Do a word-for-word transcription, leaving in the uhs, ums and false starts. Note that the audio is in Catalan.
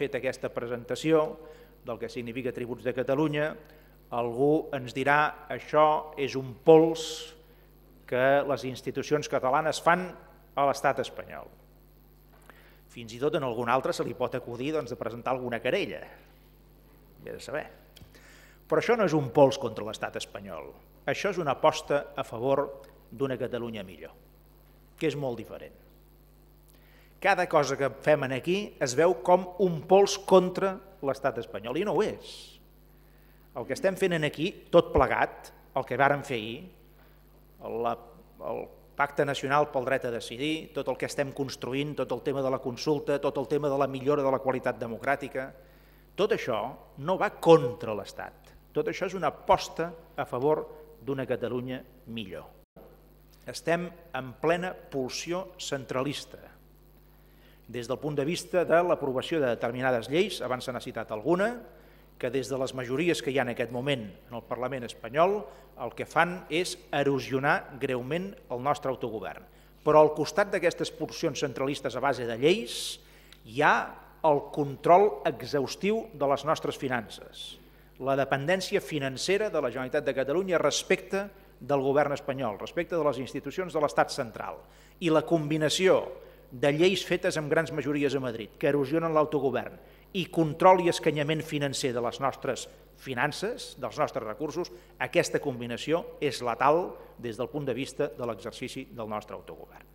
fet aquesta presentació del que significa Tributs de Catalunya, algú ens dirà això és un pols que les institucions catalanes fan a l'estat espanyol. Fins i tot en algun altre se li pot acudir doncs, de presentar alguna querella. Bé de saber. Però això no és un pols contra l'estat espanyol. Això és una aposta a favor d'una Catalunya millor, que és molt diferent. Cada cosa que fem aquí es veu com un pols contra l'estat espanyol, i no ho és. El que estem fent aquí, tot plegat, el que vàrem fer ahir, la, el Pacte Nacional pel Dret a Decidir, tot el que estem construint, tot el tema de la consulta, tot el tema de la millora de la qualitat democràtica, tot això no va contra l'Estat. Tot això és una aposta a favor d'una Catalunya millor. Estem en plena pulsió centralista. Des del punt de vista de l'aprovació de determinades lleis, abans se n'ha citat alguna, que des de les majories que hi ha en aquest moment en el Parlament espanyol, el que fan és erosionar greument el nostre autogovern. Però al costat d'aquestes pulsions centralistes a base de lleis, hi ha el control exhaustiu de les nostres finances, la dependència financera de la Generalitat de Catalunya respecte del govern espanyol, respecte de les institucions de l'estat central, i la combinació de lleis fetes amb grans majories a Madrid, que erosionen l'autogovern, i control i escanyament financer de les nostres finances, dels nostres recursos, aquesta combinació és letal des del punt de vista de l'exercici del nostre autogovern.